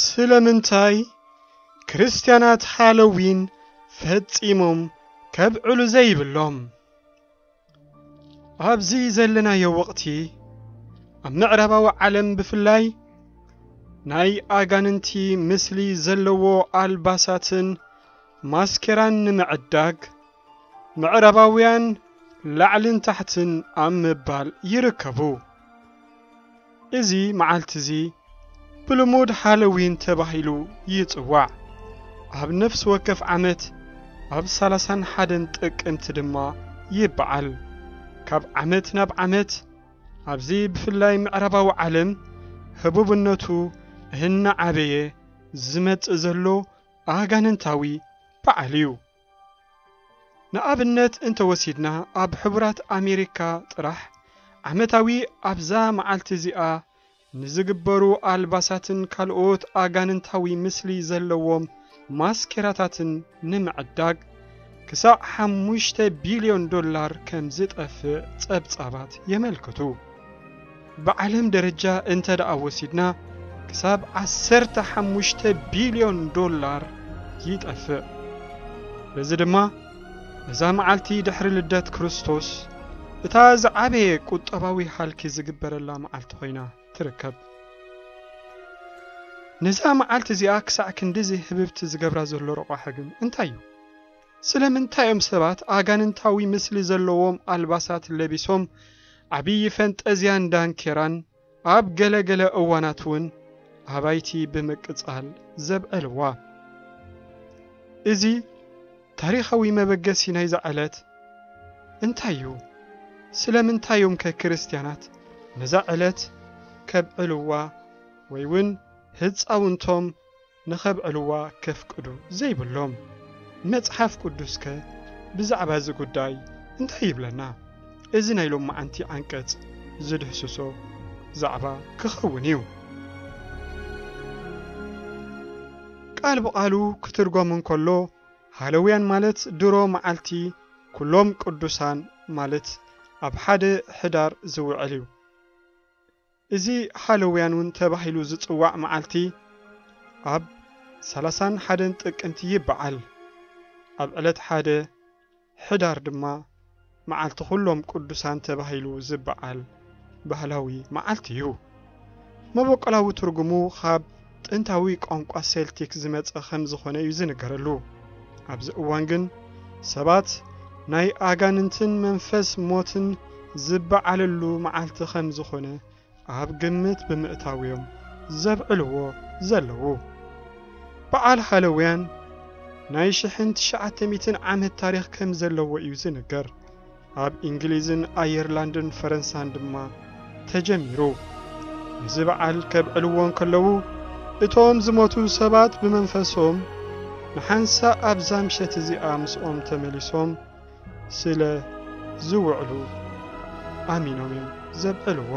ስለምንታይ ክርስትያናት ሃሎዊን ፈጺሞም ከብዕሉ ዘይብሎም? ኣብዚ ዘለናዮ ወቕቲ ኣብ ምዕራባዊ ዓለም ብፍላይ ናይ ኣጋንንቲ ምስሊ ዘለዎ ኣልባሳትን ማስኬራን ንምዕዳግ ምዕራባውያን ላዕልን ታሕትን ኣብ ምባል ይርከቡ። እዚ መዓልቲ እዚ ብልሙድ ሃሎዊን ተባሂሉ ይጽዋዕ። ኣብ ነፍሲ ወከፍ ዓመት ኣብ ሰላሳን ሓደን ጥቅምቲ ድማ ይበዓል። ካብ ዓመት ናብ ዓመት ኣብዚ ብፍላይ ምዕራባዊ ዓለም ህቡብነቱ እናዓበየ ዝመጽእ ዘሎ ኣጋንንታዊ በዓል እዩ። ንኣብነት እንተወሲድና፣ ኣብ ሕቡራት ኣሜሪካ ጥራሕ ዓመታዊ ኣብዛ መዓልቲ እዚኣ ንዝግበሩ ኣልባሳትን ካልኦት ኣጋንንታዊ ምስሊ ዘለዎም ማስኬራታትን ንምዕዳግ ክሳዕ ሓሙሽተ ቢልዮን ዶላር ከም ዝጠፍእ ጸብጻባት የመልክቱ። ብዓለም ደረጃ እንተ ደኣ ወሲድና፣ ክሳብ ዓሰርተ ሓሙሽተ ቢልዮን ዶላር ይጠፍእ። በዚ ድማ፣ እዛ መዓልቲ ድሕሪ ልደት ክርስቶስ፣ እታ ዝዓበየ ቁጠባዊ ሃልኪ ዝግበረላ መዓልቲ ኮይና ትርከብ። ነዛ መዓልቲ እዚኣ ክሳዕ ክንድዚ ህብብቲ ዝገብራ ዘሎ ረቋሒ ግን እንታይ እዩ? ስለምንታይ እዮም ሰባት ኣጋንንታዊ ምስሊ ዘለዎም ኣልባሳት ለቢሶም፣ ዓብዪ ፈንጠዝያን ዳንኬራን ኣብ ገለ ገለ እዋናት እውን ኣባይቲ ብምቅጻል ዘብዕልዋ? እዚ ታሪኻዊ መበገሲ ናይዛ ዕለት እንታይ እዩ? ስለምንታይ እዮም ከ ክርስትያናት ነዛ ዕለት ከብዕልዋ ወይ እውን ህጻውንቶም ንኸብዕልዋ ከፍቅዱ ዘይብሎም? መጽሓፍ ቅዱስከ ብዛዕባ እዚ ጉዳይ እንታይ ይብለና? እዚ ናይ ሎማዓንቲ ዓንቀጽ ዝድህስሶ ዛዕባ ክኸውን እዩ። ቃል ብቓሉ ክትርጎም እንከሎ፣ ሃሎውያን ማለት ድሮ መዓልቲ ኩሎም ቅዱሳን ማለት ኣብ ሓደ ሕዳር ዝውዕል እዩ። እዚ ሃሎውያን እውን ተባሂሉ ዝጽዋዕ መዓልቲ ኣብ ሰላሳን ሓደን ጥቅምቲ ይበዓል። ኣብ ዕለት ሓደ ሕዳር ድማ መዓልቲ ኩሎም ቅዱሳን ተባሂሉ ዝበዓል ባህላዊ መዓልቲ እዩ። መበቆላዊ ትርጉሙ ካብ ጥንታዊ ቋንቋ ሴልቲክ ዝመጸ ከም ዝኾነ እዩ ዝንገረሉ። ኣብዚ እዋን ግን ሰባት ናይ ኣጋንንትን መንፈስ ሞትን ዝበዓለሉ መዓልቲ ከም ዝኾነ ኣብ ግምት ብምእታው እዮም ዘብዕልዎ ዘለዉ። በዓል ሃሎውያን ናይ ሽሕን ትሽዓተ ሚእትን ዓመት ታሪኽ ከም ዘለዎ እዩ ዝንገር። ኣብ እንግሊዝን ኣየርላንድን ፈረንሳን ድማ ተጀሚሩ። ነዚ በዓል ከብዕልዎ እንከለዉ፣ እቶም ዝሞቱ ሰባት ብመንፈሶም ንሓንሳእ ኣብዛ ምሸት እዚኣ ምስኦም ተመሊሶም ስለ ዝውዕሉ ኣሚኖም እዮም ዘብዕልዎ።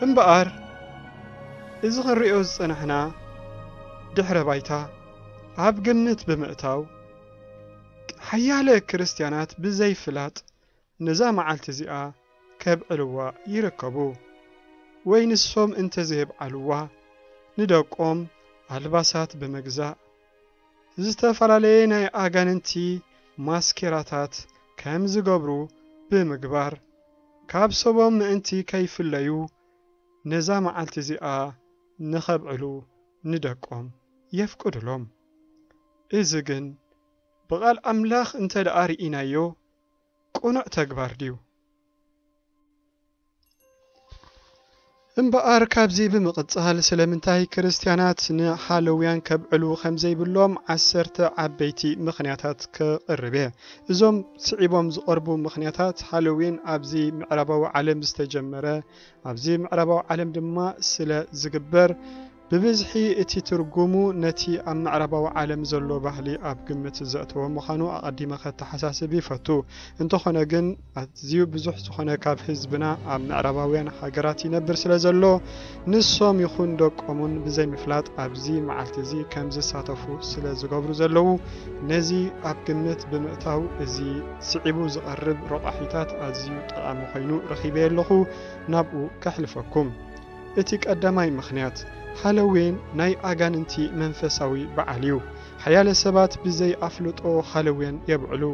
እምበኣር፣ እዚ ክንርእዮ ዝጸናሕና ድሕረ ባይታ ኣብ ግምት ብምእታው፣ ሓያለ ክርስትያናት ብዘይፍላጥ ነዛ መዓልቲ እዚኣ ከብዕልዋ ይርከቡ። ወይ ንሶም እንተዘየብዓልዋ፣ ንደቆም ኣልባሳት ብምግዛእ፣ ዝተፈላለየ ናይ ኣጋንንቲ ማስኬራታት ከም ዝገብሩ ብምግባር፣ ካብ ሰቦም ምእንቲ ከይፍለዩ፣ ነዛ መዓልቲ እዚኣ ንኸብዕሉ ንደቆም የፍቅዱሎም። እዚ ግን ብቓል ኣምላኽ እንተ ደኣ ርኢናዮ፣ ቅኑዕ ተግባር ድዩ? እምበኣር፣ ካብዚ ብምቕጻል፣ ስለምንታይ ክርስትያናት ንሃሎውያን ከብዕሉ ከም ዘይብሎም ዓሰርተ ዓበይቲ ምኽንያታት ከቕርብ እየ። እዞም ስዒቦም ዝቐርቡ ምኽንያታት፣ ሃሎዊን ኣብዚ ምዕራባዊ ዓለም ዝተጀመረ፣ ኣብዚ ምዕራባዊ ዓለም ድማ ስለ ዝግበር፣ ብብዝሒ እቲ ትርጉሙ ነቲ ኣብ ምዕራባዊ ዓለም ዘሎ ባህሊ ኣብ ግምት ዘእተወ ምዃኑ ኣቐዲመ ከተሓሳስብ ይፈቱ። እንተኾነ ግን፣ ኣዝዩ ብዙሕ ዝኾነ ካብ ህዝብና ኣብ ምዕራባውያን ሃገራት ይነብር ስለ ዘሎ፣ ንሶም ይኹን ደቆም እውን ብዘይምፍላጥ ኣብዚ መዓልቲ እዚ ከም ዝሳተፉ ስለ ዝገብሩ ዘለዉ፣ ነዚ ኣብ ግምት ብምእታው፣ እዚ ስዒቡ ዝቐርብ ረቋሒታት ኣዝዩ ጠቓሚ ኮይኑ ረኺበዮ ኣለኹ። ናብኡ ከሕልፈኩም። እቲ ቀዳማይ ምኽንያት፣ ሃሎዊን ናይ ኣጋንንቲ መንፈሳዊ በዓል እዩ። ሓያለ ሰባት ብዘይ ኣፍልጦ ሃሎዊን የብዕሉ።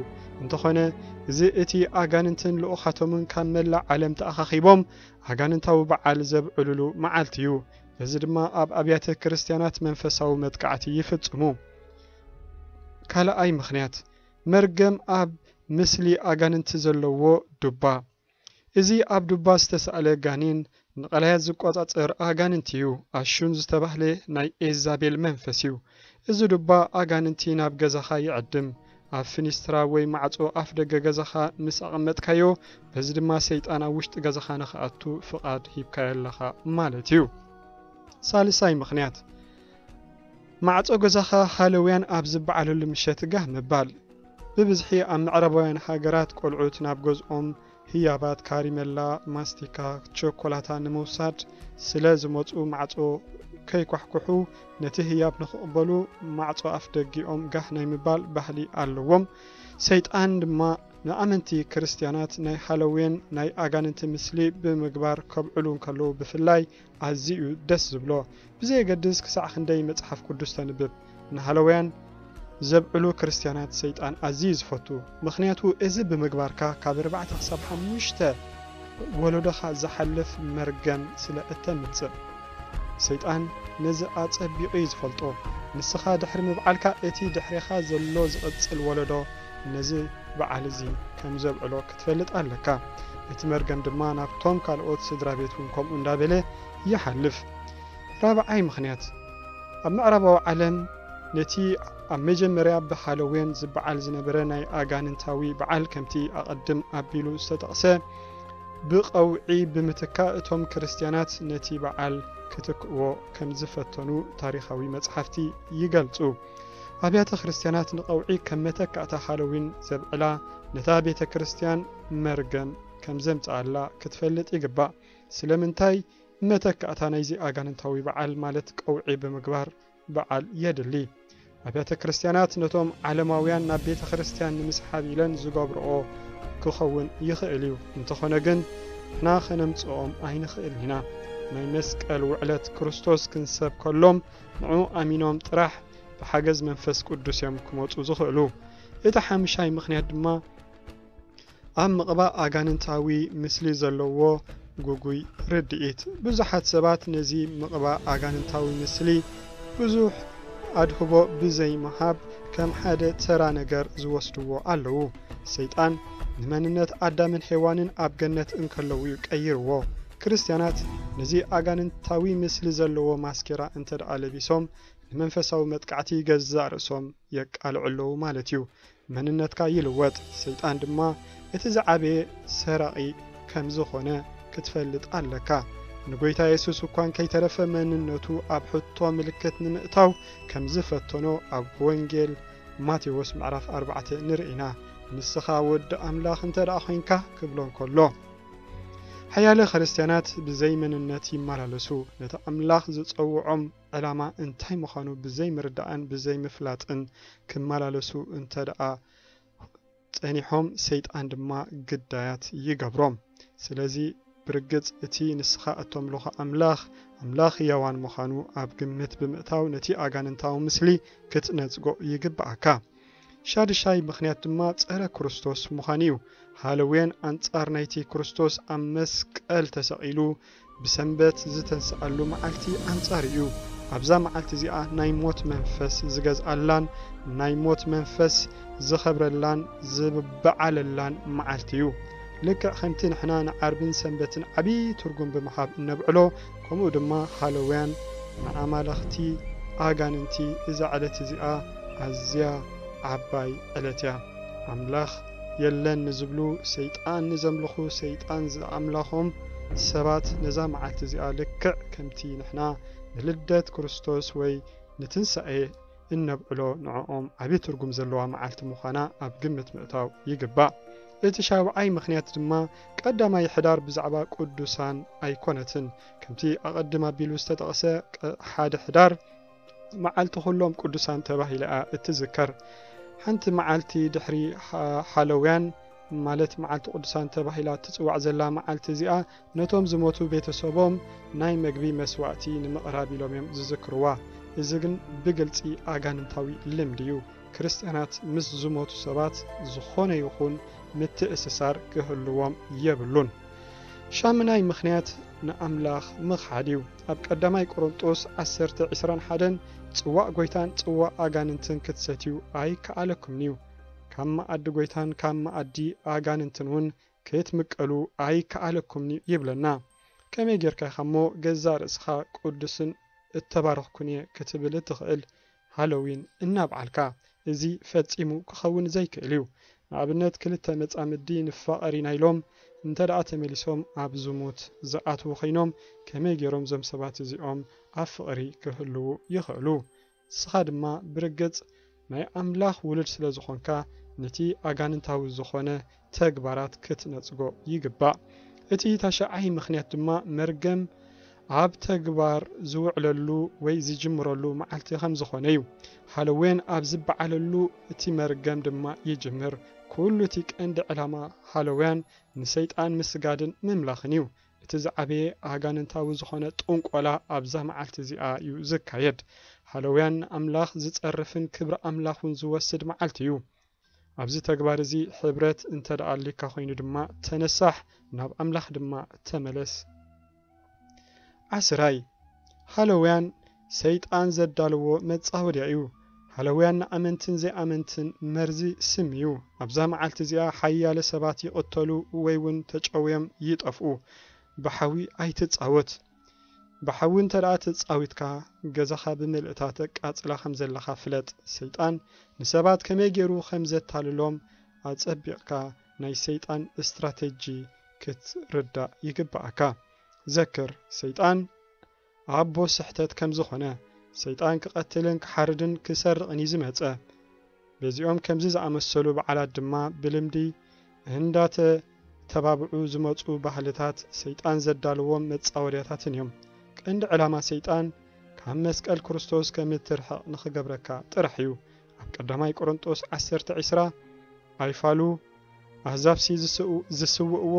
እንተኾነ፣ እዚ እቲ ኣጋንንትን ልኡኻቶምን ካብ መላእ ዓለም ተኣኻኺቦም ኣጋንንታዊ በዓል ዘብዕሉሉ መዓልቲ እዩ። በዚ ድማ ኣብ ኣብያተ ክርስቲያናት መንፈሳዊ መጥቃዕቲ ይፍጽሙ። ካልኣይ ምኽንያት፣ መርገም ኣብ ምስሊ ኣጋንንቲ ዘለዎ ዱባ። እዚ ኣብ ዱባ ዝተሳእለ ጋኔን ንቐላያት ዝቆጻጸር ኣጋንንቲ እዩ። ኣሹን ዝተባህለ ናይ ኤዛቤል መንፈስ እዩ። እዚ ዱባ ኣጋንንቲ ናብ ገዛኻ ይዕድም። ኣብ ፍኒስትራ ወይ ማዕጾ ኣፍ ደገ ገዛኻ ምስ ኣቐመጥካዮ፣ በዚ ድማ ሰይጣን ኣብ ውሽጢ ገዛኻ ንኽኣቱ ፍቓድ ሂብካዮ ኣለኻ ማለት እዩ። ሳልሳይ ምኽንያት፣ ማዕጾ ገዛኻ ሃሎዊን ኣብ ዝበዓለሉ ምሸት ጋህ ምባል። ብብዝሒ ኣብ ምዕራባውያን ሃገራት ቆልዑት ናብ ገዝኦም ህያባት፣ ካሪመላ፣ ማስቲካ፣ ቸኮላታ ንምውሳድ ስለ ዝመጹ፣ ማዕጾ ከይኳሕኩሑ፣ ነቲ ህያብ ንኽቕበሉ ማዕጾ ኣፍ ደጊኦም ጋህ ናይ ምባል ባህሊ ኣለዎም። ሰይጣን ድማ ንኣመንቲ ክርስትያናት ናይ ሃሎዊን ናይ ኣጋንንቲ ምስሊ ብምግባር ከብዕሉ እንከለዉ ብፍላይ ኣዝዩ እዩ ደስ ዝብሎ። ብዘየገድስ ክሳዕ ክንደይ መጽሓፍ ቅዱስ ተንብብ፣ ንሃሎዊን ዘብዕሉ ክርስትያናት ሰይጣን ኣዝዩ እዩ ዝፈቱ። ምኽንያቱ እዚ ብምግባርካ ካብ ኣርባዕተ ክሳብ ሓሙሽተ ወለዶኻ ዝሓልፍ መርገም ስለ እተምጽእ። ሰይጣን ነዚ ኣጸቢቑ እዩ ዝፈልጦ። ንስኻ ድሕሪ ምብዓልካ፣ እቲ ድሕሬኻ ዘሎ ዝቕጽል ወለዶ ነዚ በዓል እዚ ከም ዘብዕሎ ክትፈልጥ ኣለካ። እቲ መርገም ድማ ናብቶም ካልኦት ስድራ ቤት እውን ከምኡ እንዳበለ ይሓልፍ። ራብዓይ ምኽንያት፣ ኣብ ምዕራባዊ ዓለም ነቲ ኣብ መጀመርያ ብሃሎዊን ዝበዓል ዝነበረ ናይ ኣጋንንታዊ በዓል፣ ከምቲ ኣቐድም ኣቢሉ ዝተጠቕሰ፣ ብቐውዒ ብምትካእ፣ እቶም ክርስትያናት ነቲ በዓል ክትክእዎ ከም ዝፈተኑ ታሪኻዊ መጽሓፍቲ ይገልጹ። ኣብያተ ክርስትያናት ንቐውዒ ከም መተካእታ ሃሎዊን ዘብዕላ፣ ነታ ቤተ ክርስትያን መርገም ከም ዘምጽኣላ ክትፈልጥ ይግባእ። ስለምንታይ? መተካእታ ናይዚ ኣጋንንታዊ በዓል፣ ማለት ቀውዒ ብምግባር በዓል የድሊ። ኣብያተ ክርስትያናት ነቶም ዓለማውያን ናብ ቤተ ክርስትያን ንምስሓብ ኢለን ዝገብርኦ ክኸውን ይኽእል እዩ። እንተኾነ ግን፣ ንሕና ኸነምጽኦም ኣይንኽእልን ኢና። ናይ መስቀል ውዕለት ክርስቶስ ክንሰብከሎም፣ ንዕኡ ኣሚኖም ጥራሕ ብሓገዝ መንፈስ ቅዱስ እዮም ክመጹ ዝኽእሉ። እቲ ሓምሻይ ምኽንያት ድማ፣ ኣብ ምቕባእ ኣጋንንታዊ ምስሊ ዘለዎ ግጉይ ርድኢት። ብዙሓት ሰባት ነዚ ምቕባእ ኣጋንንታዊ ምስሊ ብዙሕ ኣድህቦ ብዘይምሃብ ከም ሓደ ተራ ነገር ዝወስድዎ ኣለዉ። ሰይጣን ንመንነት ኣዳምን ሄዋንን ኣብ ገነት እንከለዉ እዩ ቀይርዎ። ክርስትያናት ነዚ ኣጋንንታዊ ምስሊ ዘለዎ ማስኬራ እንተ ደኣ ለቢሶም፣ ንመንፈሳዊ መጥቃዕቲ ገዛእ ርእሶም የቃልዑ ኣለዉ ማለት እዩ። መንነትካ ይልወጥ። ሰይጣን ድማ እቲ ዝዓበየ ሰራቒ ከም ዝኾነ ክትፈልጥ ኣለካ። ንጎይታ የሱስ እኳ እንከይተረፈ መንነቱ ኣብ ሕቶ ምልክት ንምእታው ከም ዝፈተኖ ኣብ ወንጌል ማቴዎስ ምዕራፍ ኣርባዕተ ንርኢ ኢና። "ንስኻ ወዲ ኣምላኽ እንተ ደኣ ኾይንካ" ክብሎ እንከሎ፣ ሓያለ ክርስትያናት ብዘይ መንነት ይመላለሱ። ነቲ ኣምላኽ ዝጸውዖም ዕላማ እንታይ ምዃኑ ብዘይ ምርዳእን ብዘይ ምፍላጥን ክመላለሱ እንተ ደኣ ጸኒሖም፣ ሰይጣን ድማ ግዳያት ይገብሮም። ስለዚ፣ ብርግጽ እቲ ንስኻ እተምልኾ ኣምላኽ፣ ኣምላኽ ህያዋን ምዃኑ ኣብ ግምት ብምእታው፣ ነቲ ኣጋንንታዊ ምስሊ ክትነጽጎ ይግብኣካ። ሻድሻይ ምኽንያት ድማ ጸረ ክርስቶስ ምዃኑ እዩ። ሃሎዊን ኣንጻር ናይቲ ክርስቶስ ኣብ መስቀል ተሰቒሉ ብሰንበት ዝተንስኣሉ መዓልቲ ኣንጻር እዩ። ኣብዛ መዓልቲ እዚኣ ናይ ሞት መንፈስ ዝገዝኣላን ናይ ሞት መንፈስ ዝኸብረላን ዝበዓለላን መዓልቲ እዩ። ልክዕ ከምቲ ንሕና ንዓርብን ሰንበትን ዓቢ ትርጉም ብምሃብ እነብዕሎ፣ ከምኡ ድማ ሃሎዊን ንኣማልኽቲ ኣጋንንቲ እዛ ዕለት እዚኣ ኣዝያ ዓባይ ዕለት እያ። ኣምላኽ የለን ንዝብሉ፣ ሰይጣን ንዘምልኹ፣ ሰይጣን ዝኣምላኾም ሰባት ነዛ መዓልቲ እዚኣ ልክዕ ከምቲ ንሕና ንልደት ክርስቶስ ወይ ንትንሳኤ እነብዕሎ፣ ንዕኦም ዓቢ ትርጉም ዘለዋ መዓልቲ ምዃና ኣብ ግምት ምእታው ይግባእ። እቲ ሻብዓይ ምኽንያት ድማ፣ ቀዳማይ ሕዳር ብዛዕባ ቅዱሳን ኣይኮነትን። ከምቲ ኣቐድም ኣቢሉ ዝተጠቕሰ፣ ቀ-፣ ሓደ ሕዳር መዓልቲ ኩሎም ቅዱሳን ተባሂላ እያ እትዝከር። ሓንቲ መዓልቲ ድሕሪ ሃ-፣ ሃሎዊን ማለት መዓልቲ ቅዱሳን ተባሂላ እትጽዋዕ ዘላ መዓልቲ እዚኣ፣ ነቶም ዝሞቱ ቤተሰቦም ናይ መግቢ መስዋእቲ ንምቕራብ ኢሎም እዮም ዝዝክርዋ። እዚ ግን ብግልጺ ኣጋንንታዊ ልምዲ እዩ። ክርስትያናት ምስ ዝሞቱ ሰባት ዝኾነ ይኹን ምትእስሳር ክህልዎም የብሉን። ሻምናይ ምኽንያት ንኣምላኽ ምኽሓድ እዩ። ኣብ ቀዳማይ ቆሮንጦስ ዓሰርተ ዕስራን ሓደን፣ ጽዋእ ጎይታን ጽዋእ ኣጋንንትን ክትሰትዩ ኣይከኣለኩምን እዩ። ካብ መኣዲ ጎይታን ካብ መኣዲ ኣጋንንትን እውን ክትምቀሉ ኣይከኣለኩምን እዩ ይብለና። ከመይ ጌርካ ኢኻ እሞ ገዛእ ርእስኻ ቅዱስን እተባረኽኩን እየ ክትብል እትኽእል? ሃሎዊን እናብዓልካ። እዚ ፈጺሙ ክኸውን ዘይክእል እዩ። ንኣብነት፣ ክልተ መጻምዲ ንፋቐር ኢና ኢሎም እንተ ደኣ ተመሊሶም ኣብ ዝሙት ዝኣትዉ ኾይኖም፣ ከመይ ገይሮም እዞም ሰባት እዚኦም ኣብ ፍቕሪ ክህልዉ ይኽእሉ? ንስኻ ድማ ብርግጽ ናይ ኣምላኽ ውሉድ ስለ ዝኾንካ፣ ነቲ ኣጋንንታዊ ዝኾነ ተግባራት ክትነጽጎ ይግባእ። እቲ ታሽዓይ ምኽንያት ድማ መርገም ኣብ ተግባር ዝውዕለሉ ወይ ዝጅምረሉ መዓልቲ ከም ዝኾነ እዩ። ሃሎዌን ኣብ ዝበዓለሉ እቲ መርገም ድማ ይጅምር። ኩሉ እቲ ቀንዲ ዕላማ ሃሎውያን ንሰይጣን ምስጋድን ምምላኽን እዩ። እቲ ዝዓበየ ኣጋንንታዊ ዝኾነ ጥንቆላ ኣብዛ መዓልቲ እዚኣ እዩ ዝካየድ። ሃሎውያን ንኣምላኽ ዝጸርፍን ክብሪ ኣምላኽ እውን ዝወስድ መዓልቲ እዩ። ኣብዚ ተግባር እዚ ሕብረት እንተ ደኣ ኣልካ ኮይኑ ድማ ተነሳሕ፣ ናብ ኣምላኽ ድማ ተመለስ። ዓስራይ፣ ሃሎውያን ሰይጣን ዘዳለዎ መጻወድያ እዩ። ሃሎውያን ንኣመንትን ዘይኣመንትን መርዚ ስም እዩ። ኣብዛ መዓልቲ እዚኣ ሓያለ ሰባት ይቕተሉ ወይ እውን ተጨውዮም ይጠፍኡ። ብሓዊ ኣይትጻወት። ብሓዊ እንተ ደኣ ተጻዊትካ፣ ገዛኻ ብምልእታ ተቃጽላ ከም ዘለኻ ፍለጥ። ሰይጣን ንሰባት ከመይ ገይሩ ከም ዘታልሎም ኣጸቢቕካ ናይ ሰይጣን ስትራተጂ ክትርዳእ ይግብኣካ። ዘክር፣ ሰይጣን ኣቦ ስሕተት ከም ዝኾነ፣ ሰይጣን ክቐትልን ክሓርድን ክሰርቕን እዩ ዝመጸ። በዚኦም ከምዚ ዝኣመሰሉ በዓላት ድማ ብልምዲ እንዳተተባብዑ ዝመጹ ባህልታት ሰይጣን ዘዳለዎም መጻወድያታትን እዮም። ቀንዲ ዕላማ ሰይጣን ካብ መስቀል ክርስቶስ ከም እትርሕቕ ንኽገብረካ ጥራሕ እዩ። ኣብ ቀዳማይ ቆሮንጦስ ዓሰርተ ዕስራ፣ ኣይፋሉ፣ ኣህዛብሲ ዝስው-፣ ዝስውእዎ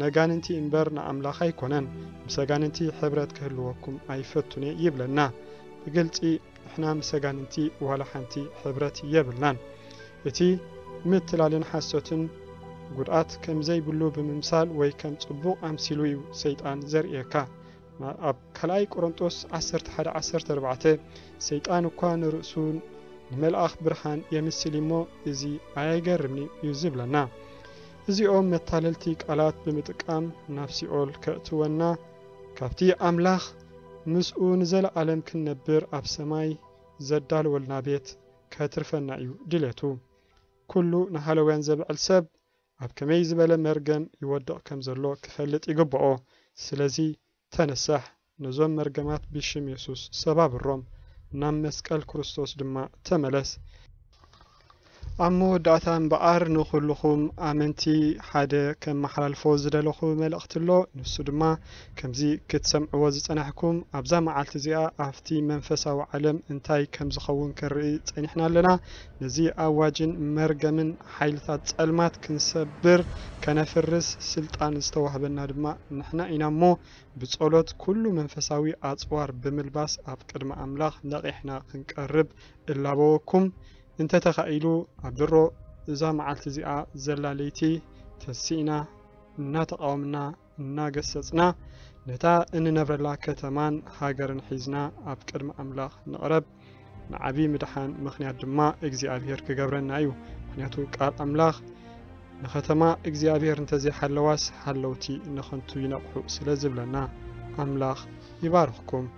ነጋንንቲ እምበር ንኣምላኽ ኣይኮነን። ምስ ኣጋንንቲ ሕብረት ክህልወኩም ኣይፈቱን እየ ይብለና። ብግልጺ ንሕና ምስ ኣጋንንቲ ዋላ ሓንቲ ሕብረት የብልናን። እቲ ምትላልን ሓሶትን ጉድኣት ከም ዘይብሉ ብምምሳል ወይ ከም ጽቡቕ ኣምሲሉ እዩ ሰይጣን ዘርእየካ። ኣብ ካልኣይ ቆሮንጦስ ዓሰርተ ሓደ ዓሰርተ ኣርባዕተ፣ ሰይጣን እኳ ንርእሱ ንመልኣኽ ብርሃን የምስል እሞ፣ እዚ ኣየገርምን እዩ ዝብለና። እዚኦም መታለልቲ ቃላት ብምጥቃም ናብ ሲኦል ከእትወና፣ ካብቲ ኣምላኽ ምስኡ ንዘለኣለም ክንነብር ኣብ ሰማይ ዘዳለወልና ቤት ከትርፈና እዩ ድሌቱ። ኩሉ ንሃለውያን ዘብዕል ሰብ ኣብ ከመይ ዝበለ መርገም ይወድቕ ከም ዘሎ ክፈልጥ ይግብኦ። ስለዚ ተነሳሕ፣ ነዞም መርገማት ብሽም የሱስ ሰባብሮም፣ ናብ መስቀል ክርስቶስ ድማ ተመለስ። ኣብ መወዳእታ እምበኣር ንኹልኹም ኣመንቲ ሓደ ከመሓላልፎ ዝደለኹ መልእኽቲ ኣሎ። ንሱ ድማ ከምዚ ክትሰምዕዎ ዝጸናሕኩም፣ ኣብዛ መዓልቲ እዚኣ ኣብቲ መንፈሳዊ ዓለም እንታይ ከም ዝኸውን ክንርኢ ጸኒሕና ኣለና። ነዚ ኣዋጅን መርገምን ሓይልታት ጸልማት ክንሰብር፣ ከነፍርስ ስልጣን ዝተዋህበና ድማ ንሕና ኢና እሞ፣ ብጸሎት ኩሉ መንፈሳዊ ኣጽዋር ብምልባስ ኣብ ቅድሚ ኣምላኽ ነቒሕና ክንቀርብ እላበወኩም። እንተ ተኻኢሉ ኣብ ድሮ እዛ መዓልቲ እዚኣ ዘላ ለይቲ ተሲእና፣ እናተቓወምና፣ እናገሰጽና፣ ነታ እንነብረላ ከተማን ሃገርን ሒዝና ኣብ ቅድሚ ኣምላኽ ንቕረብ። ንዓቢ ምድሓን ምኽንያት ድማ እግዚኣብሔር ክገብረና እዩ። ምኽንያቱ ቃል ኣምላኽ፣ "ንኸተማ እግዚኣብሔር እንተዘይሓለዋስ፣ ሓለውቲ ንኸንቱ ይነቕሑ" ስለ ዝብለና፣ ኣምላኽ ይባርኽኩም።